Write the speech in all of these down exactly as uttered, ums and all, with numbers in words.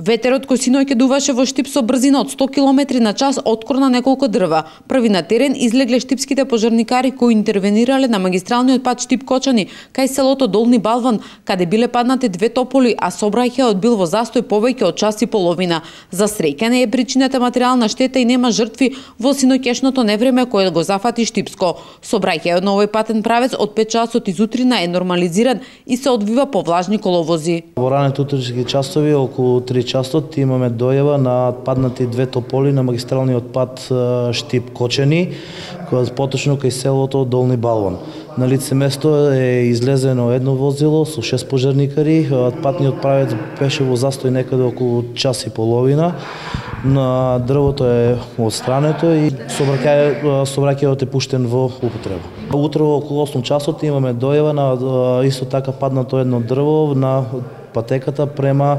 Ветерот кој синоќ дуваше во Штип со брзина од сто километри на час откорна неколку дрва. Први на терен излегле штипските пожарникари кои интервенирале на магистралниот пат Штип-Кочани кај селото Долни Балван, каде биле паднати две тополи, а сообраќајот бил во застој повеќе од час и половина. За среќа не е причината материјална штета и нема жртви во синоќешното невреме кое го зафати Штипско. Сообраќајот на овој патен правец од пет часот изутрина е нормализиран и се одвива по влажни коловози. Во ранете утрински часови околу три часот имаме дојава на паднати две тополи на магистралниот пат Штип-Кочани, која поточно кај селото Долни Балван. На лице место е излезено едно возило со шест пожарникари. Патниот правец беше во застој некаде околу час и половина. На дрвото е отстрането и сообраќајот е пуштен во употреба. Утрово околу осум часот имаме дојава на исто така паднато едно дрво на патеката према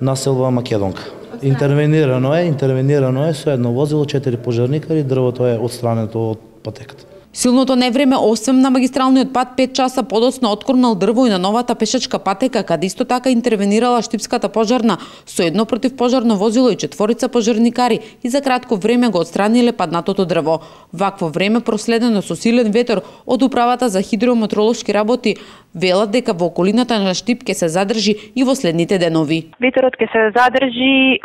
населба Македонка. Интервенирано е, интервенирано е со едно возило, четири пожарникари, дрвото е отстрането од патеката. Силното невреме, освен на магистралниот пат, пет часа подоцна откорнал дрво и на новата пешачка патека, каде исто така интервенирала Штипската пожарна со едно противпожарно возило и четворица пожарникари и за кратко време го отстраниле паднатото дрво. Вакво време проследено со силен ветер од управата за хидрометеоролошки работи велат дека во околината на Штип ќе се задржи и во следните денови. Ветерот ќе се задржи,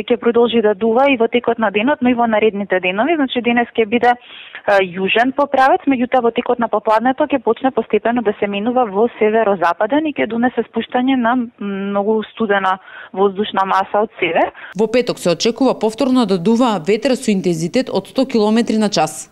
ќе продолжи да дува и во текот на денот, но и во наредните денови. Значи денес ќе биде јужен поправец, меѓутоа во текот на попладнето ќе почне постепено да се минува во северозападен и ќе донесе спуштање на многу студена воздушна маса од север. Во петок се очекува повторно да дува ветер со интензитет од сто километри на час.